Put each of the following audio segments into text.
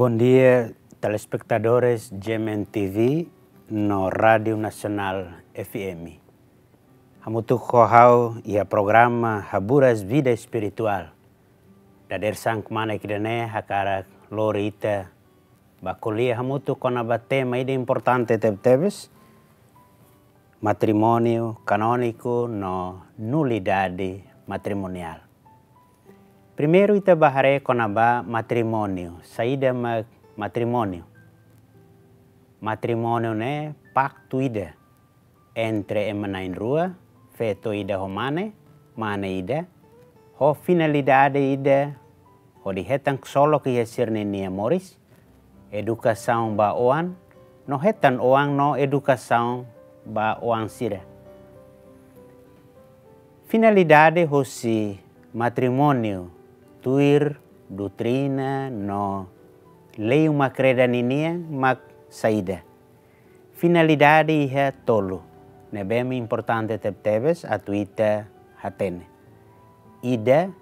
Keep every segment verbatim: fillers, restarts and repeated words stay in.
Bondia, telespetadores G M N T V no Rádiu Nasionál F M. Hamutuk ho ha'u iha programa Haburas Vida Espirituál. Dadeer-saan kmanek ida-ne'e hakarak lori ita ba ko'alia hamutuk kona-ba tema ida importante tebetebes, matrimóniu kanóniku no nulidade matrimoniál. Primeiru ita bá haree kona-ba matrimóniu, saida mak matrimóniu. Matrimóniu ne'e paktu ida entre ema na'in-rua, feto ida ho mane, mane ida, ho finalidade ida, hodi hetan ksolok iha sira-ninia moris, edukasaun ba oan, no hetan oan no edukasaun ba oan sira. Finalidade hosi matrimóniu tuir doutrina no lei uma-kreda ninian mak saida. Finalidade iha tolu ne'ebé importante tebetebes atu ita hatene. Ida,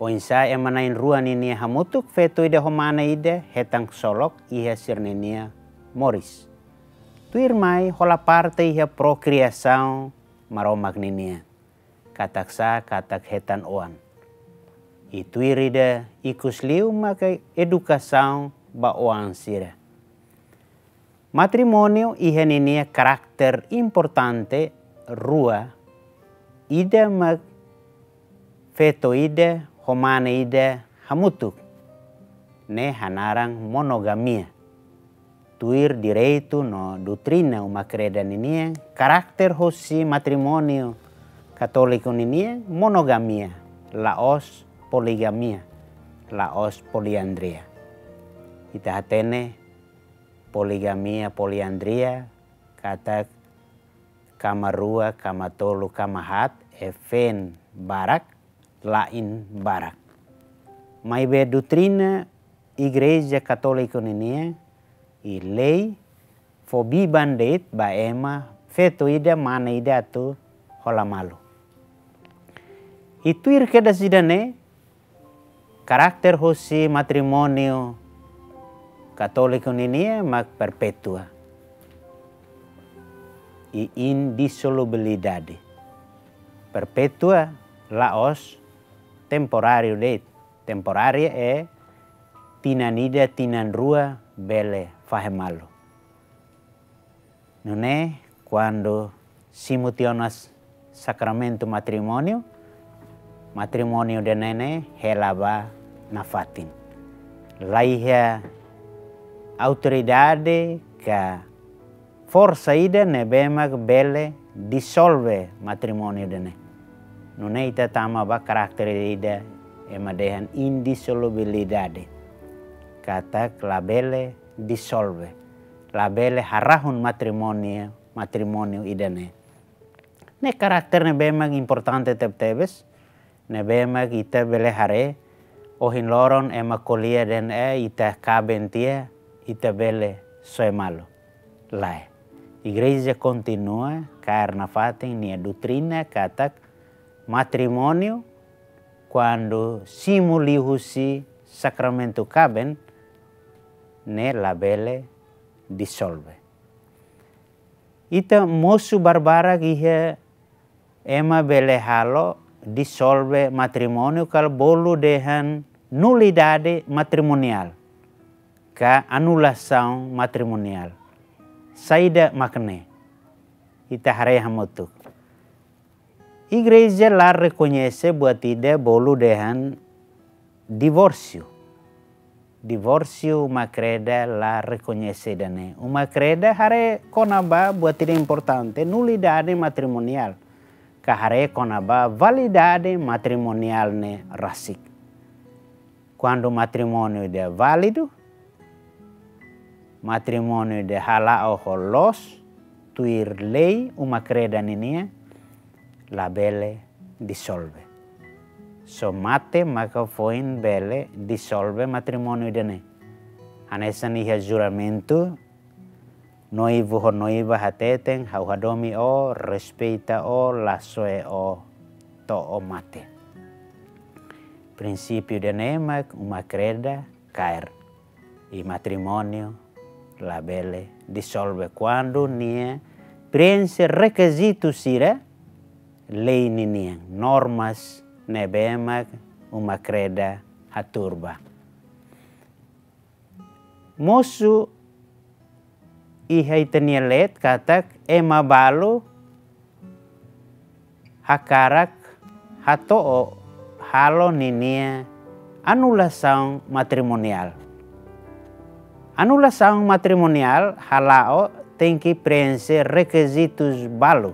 oinsá ema na'in-rua ninia hamutuk, feto ida ho mane ida, hetan ksolok iha sira-ninia moris. Tuirmai hola parte iha prokriasaun Maromak ninian. Katak sá, katak hetan oan. I tuir ida ikus liu maka edukasaun ba oan sira. Matrimóniu iha ninia karakter importante rua, ida mak feto ida ho mane ida hamutuk, ne'e hanaran monogamia. Tuir direitu no doutrina uma-kreda ninian, karakter hosi matrimóniu katóliku ninian monogamia, la'ós poligamia, la'ós poliandria. Ita hatene poligamia, poliandria, katak kama rua, kama tolu, kama haat, e feen barak, la'en barak. Maibé doutrina Igreja Katólika ninian, i lei fó biban de'it ba ema feto ida, mane ida atu hola malu. I tuir kedas ida-ne'e, karakter hosi matrimóniu katóliku ninian mak perpétua i indisolubilidade. Perpétua la'ós temporáriu de'it. Temporária é tinan ida, tinan rua bele fahe malu. Nune'e, kuandu simu tiha ona sakramentu matrimóniu, matrimóniu ida-ne'e ne'e hela ba nafatin. La iha autoridade ka forsa ida ne'ebé mak bele disolve matrimóniu ida-ne'e. Nune'e ita tama ba karakter ida ema dehan indisolubilidade. Katak labele disolve, labele harahun matrimóniu, matrimóniu ida-ne'e. Ne'e karakter ne'ebé mak importante tebetebes, ne'ebé mak ita bele haree, ohin loron ema ko'alia dehan, eh, ita kaben tiha, ita bele soe malu. Lae. Igreja kontinua kaer nafatin nia doutrina katak matrimóniu, kuandu simu liuhusi sakramentu kaben, ne'e labele disolve. Ita mosu barbarak iha ema bele halo disolve matrimóniu ka bolu dehan nulidade matrimoniál ka anulasaun matrimoniál. Saida mak ne'e? Ita haree hamutuk. Igreja la rekoñese buat ida bolu dehan divórsiu. Divórsiu uma-kreda la rekoñese ida-ne'e. Uma-kreda haree kona-ba buat ida importante, nulidade matrimoniál. Ka haree kona-ba validade matrimoniál ne'e rasik. Kuandu matrimóniu ida válidu, matrimóniu ida hala'o ho loos, tuir lei uma-kreda ninian, labele disolve. Só mate maka foin bele disolve matrimóniu ida-ne'e. Hanesan iha juramentu, noivu ho noiva hateten, ha'u hadomi ó, respeita ó, la soe ó to'o mate. Prinsípiu ida-ne'e mak uma-kreda kaer. I matrimóniu labele disolve kuandu nia preenxe rekizitu sira lei ninian, normas ne'ebé mak uma-kreda hatuur ba. Mosu iha ita-nia leet katak ema balu hakarak hato'o halo ninia anulasaun matrimoniál. Anulasaun matrimoniál hala'o tenke preenxe rekizitus balu.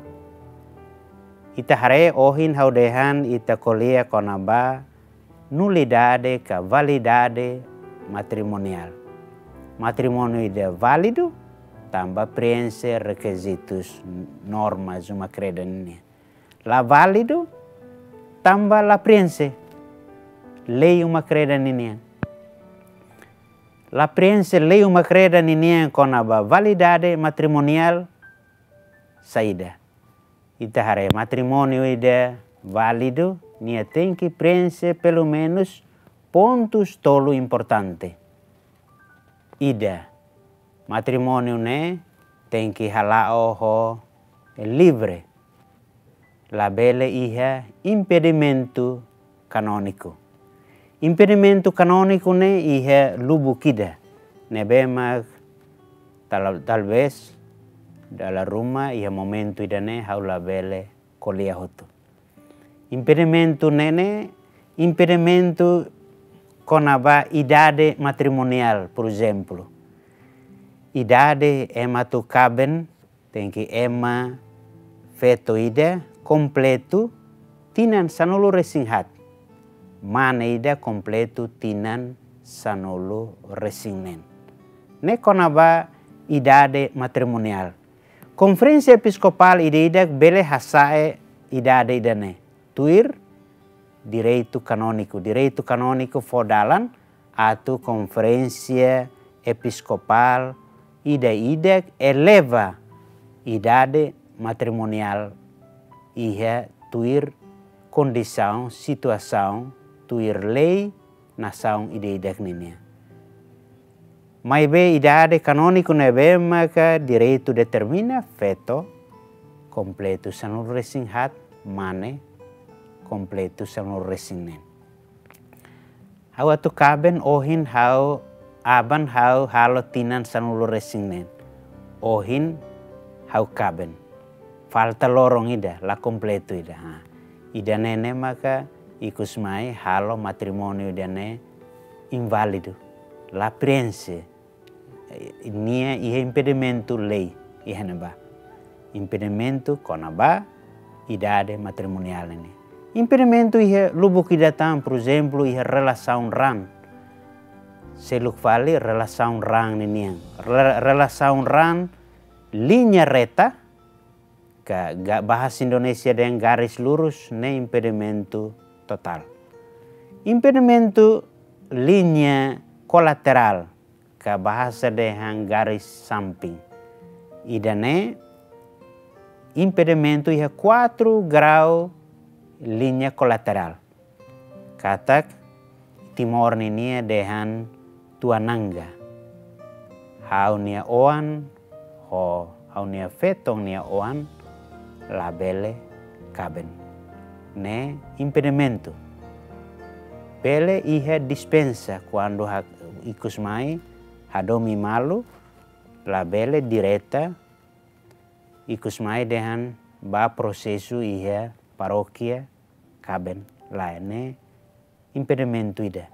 Ita haree ohin ha'u dehan ita ko'alia kona-ba nulidade ka validade matrimoniál. Matrimóniu ida válidu tanba preenxe rekizitus, normas uma-kreda ninian. La válidu tanba la preenxe lei uma-kreda ninian. La preenxe lei uma-kreda ninian kona-ba validade matrimoniál saida. Ita haree matrimóniu ida válidu, nia tenke preenxe pelumenus pontus tolu importante. Ida, matrimóniu ne'e tenke hala'o ho livre, labele iha impedimentu kanóniku. Impedimentu kanóniku ne'e iha lubuk ida ne'ebé mak tal-, talvés dala ruma iha momentu ida-ne'e ha'u labele ko'alia hotu. Impedimentu ne'e ne'e impedimentu kona-ba idade matrimoniál, por ezemplu. Idade ema atu kaben tenke ema feto ida kompletu tinan sanulu-resin-haat. Mane ida kompletu tinan sanulu-resin-neen. Ne'e kona-ba idade matrimoniál. Konferénsia Episkopál ida-idak bele hasa'e idade ida-ne'e tuir direitu kanóniku. Direitu kanóniku fó dalan atu Konferénsia Episkopál ida-idak eleva idade matrimoniál iha tuir kondisaun, situasaun, tuir lei nasaun ida-idak ninian. Maibé idade kanóniku ne'ebé maka direitu determina, feto kompletu sanulu-resin-haat, mane kompletu sanulu-resin-neen. Ha'u atu kaben ohin ha'u, aban ha'u halo tinan sanulu-resin-neen. Ohin ha'u kaben. Falta loron ida, la kompletu ida. Ha. Ida-ne'e ne'e maka ikus mai halo matrimóniu ida-ne'e inválidu. La preenxe. Nia iha impedimentu lei iha ne'ebá. Impedimentu kona-ba idade matrimoniál ne'e. Impedimentu iha lubuk ida tan, por ezemplu, iha relasaun raan. Seluk fali relasaun raan ninian. Re-, relasaun raan liña reta, ka ga-, bahasa Indonesia dehan garis lurus, ne'e impedimentu totál. Impedimentu liña kolaterál, ka bahasa dehan garis samping. Ida-ne'e impedimentu iha kuatru grau liña kolaterál. Katak Timor ninia dehan tuan nangga. Ha'u-nia oan ho ha'u-nia feton nia oan labele kaben. Ne'e impedimentu. Bele iha dispensa kuandu ha-, ikus mai hadomi malu, labele direta ikus mai dehan bá prosesu iha parókia kaben, lae, ne'e impedimentu ida.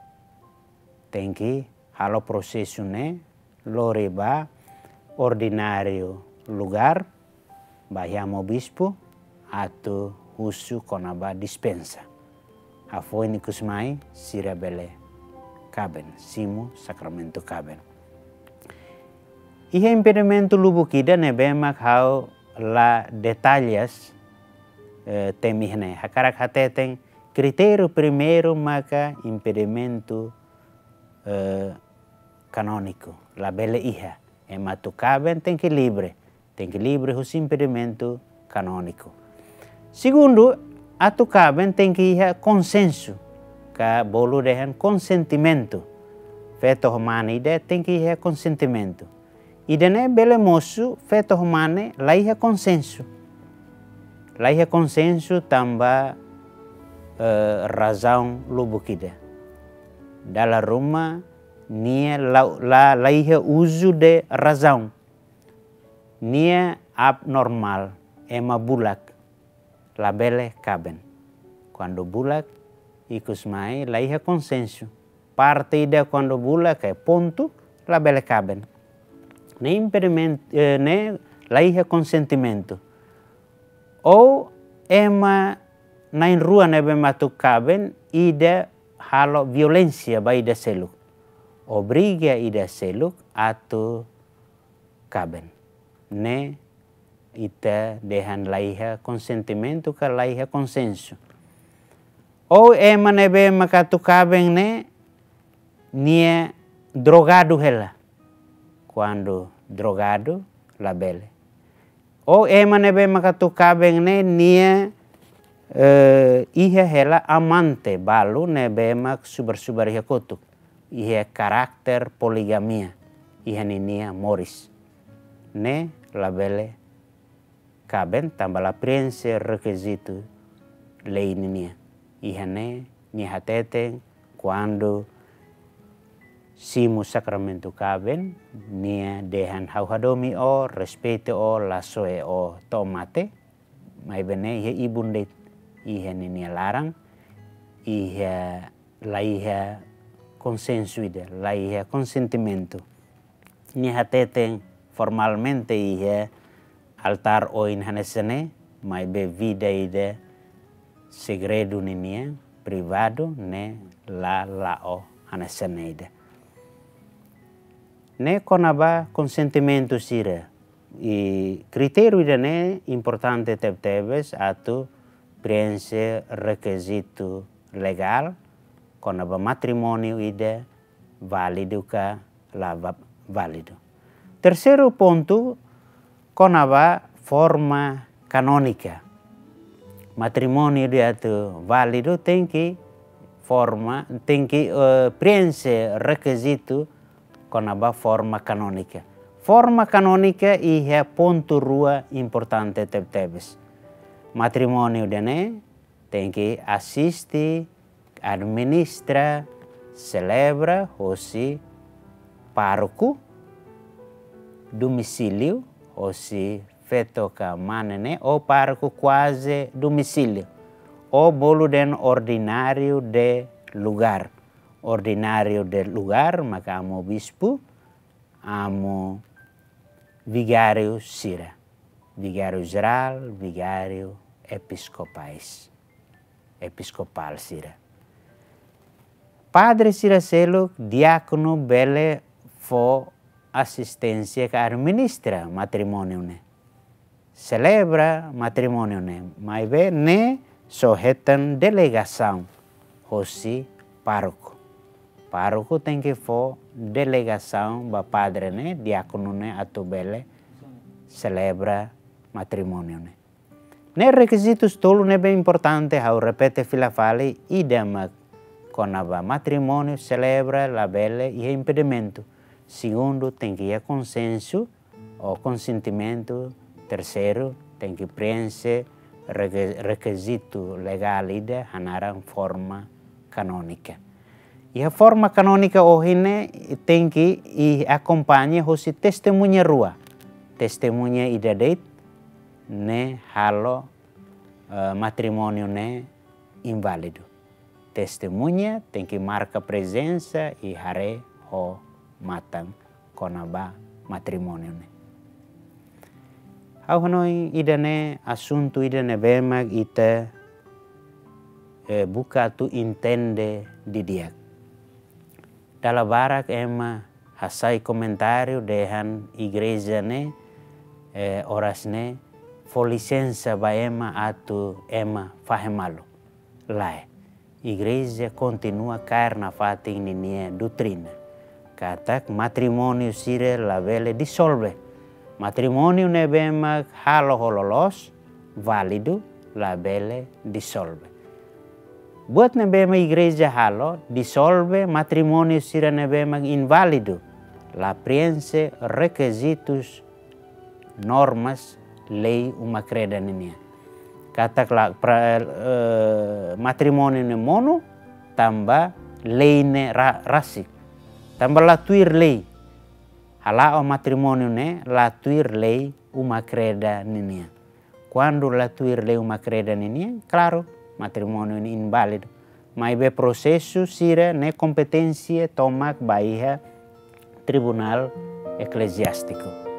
Tenke halo prosesu ne'e lori ba ordináriu lugár, ba iha amu bispu, atu husu kona-ba dispensa. Hafoin ikus mai sira bele kaben, simu sakramentu kaben. Iha impedimentu lubuk ida ne'ebé mak ha'u la detallas, eh, temi ne'e. Hakarak hateten kritériu primeiru maka impedimentu, eh, kanóniku. Labele iha. Ema atu kaben tenke livre. Tenke livre husi impedimentu kanóniku. Segundu, atu kaben tenke iha konsensu, ka bolu dehan konsentimentu. feto ho mane ida tenke iha konsentimentu. Ida-ne'e bele mosu feto ho mane la iha konsensu. La iha konsensu tanba, eh, razaun lubuk ida. Dala ruma nia la, la, la iha uzu de razaun. Nia abnormál, ema bulak, labele kaben. Kuandu bulak, ikus mai la iha konsensu. Parte ida kuandu bulak, eh, pontu, labele kaben. Ne'e impedimentu, eh, ne'e la iha konsentimentu. Ou ema na'in-rua ne'ebé mak atu kaben, ida halo violénsia ba ida seluk. Obriga ida seluk atu kaben. Ne'e ita dehan la iha konsentimentu ka la iha konsensu. Ou ema ne'ebé mak atu kaben ne'e nia drogadu hela. Kuandu drogadu, labele. Ou ema ne'ebé mak atu kaben ne'e nia, eh, iha hela amante balu ne'ebé mak subar-subar iha kotuk. Iha karakter poligamia iha ninia moris. Ne'e labele kaben tanba la prienxe rekizitu lei ninian. Iha ne'e nia hateten kuandu simu sakramentu kaben, nia dehan ha'u hadomi ó, respeita ó, la soe ó to'o mate, maibé ne'e iha ibun de'it, iha ninia laran, iha la iha konsensu ida, la iha konsentimentu. Nia hateten formalmente iha altár oin hanesan ne'e, maibé vida ida segredu ninian, privadu, ne'e la la'o hanesan ne'e ida. Ne'e kona-ba konsentimentu sira. I kritériu ida-ne'e importante tebetebes atu prienxe rekizitu legál kona-ba matrimóniu ida válidu ka la va-, válidu. Terseiru pontu, kona-ba forma kanónika. Matrimóniu ida atu válidu tenke forma, tenke, eh, prienxe rekizitu kona-ba forma kanónika. Forma kanónika iha pontu rua importante tebetebes. Matrimóniu ida-ne'e tenke asiste, administra, selebra hosi pároku, domicílio hosi feto ka mane ne'e, ou pároku kuaze domicílio, ou bolu dehan ordináriu de lugár. Ordináriu de lugár maka amu bispu, amu vigáriu sira, vigáriu jerál, vigáriu episkopais, episkopál sira. Padre sira seluk, diákonu bele fó asisténsia ka administra matrimóniu ne'e, selebra matrimóniu ne'e, maibé ne'e só hetan delegasaun hosi pároku. Pároku tenke fó delegasaun ba padre ne'e, diákonu ne'e atu bele selebra matrimóniu ne'e. Ne'e rekizitus tolu ne'ebé importante, ha'u repete fila fali, ida mak kona-ba matrimóniu selebra labele iha impedimentu. Segundu, tenke iha konsensu ou konsentimentu. Terseiru, tenke prienxe reke-, rekizitu legál ida hanaran forma kanónika. Iha forma kanónika ohin ne'e tenke i akompaña hosi testemuña rua. Testemuña ida de'it ne'e halo, eh, matrimóniu ne'e inválidu. Testemuña tenke marka prezensa i haree ho matan kona-ba matrimóniu ne'e. Ha'u hanoin ida-ne'e asuntu ida ne'ebé mak ita, eh, buka atu entende didi'ak. Dala barak ema hasai komentáriu dehan igreja ne'e, eh, oras ne'e fó lisensa ba ema atu ema fahe malu. Lae, igreja kontinua kaer nafatin ninia doutrina katak matrimóniu sira labele disolve. Matrimóniu ne'ebé mak halo ho loloos, válidu, labele disolve. Buat ne'ebé mak igreja halo, disolve matrimóniu sira ne'ebé mak inválidu, la preenxe rekizitus, normas lei uma kreda ninian. Katak la pra, eh, matrimóniu ne'e monu tanba lei ne'e ra-, rasik. Tanba la tuir lei. Hala'o matrimóniu ne'e la tuir lei uma kreda ninian. Kuandu la tuir lei uma kreda ninian, klaru, matrimóniu ne'e inválidu. Maibé prosesu sira-ne'e kompeténsia tomak ba iha Tribunál Ekleziástiku.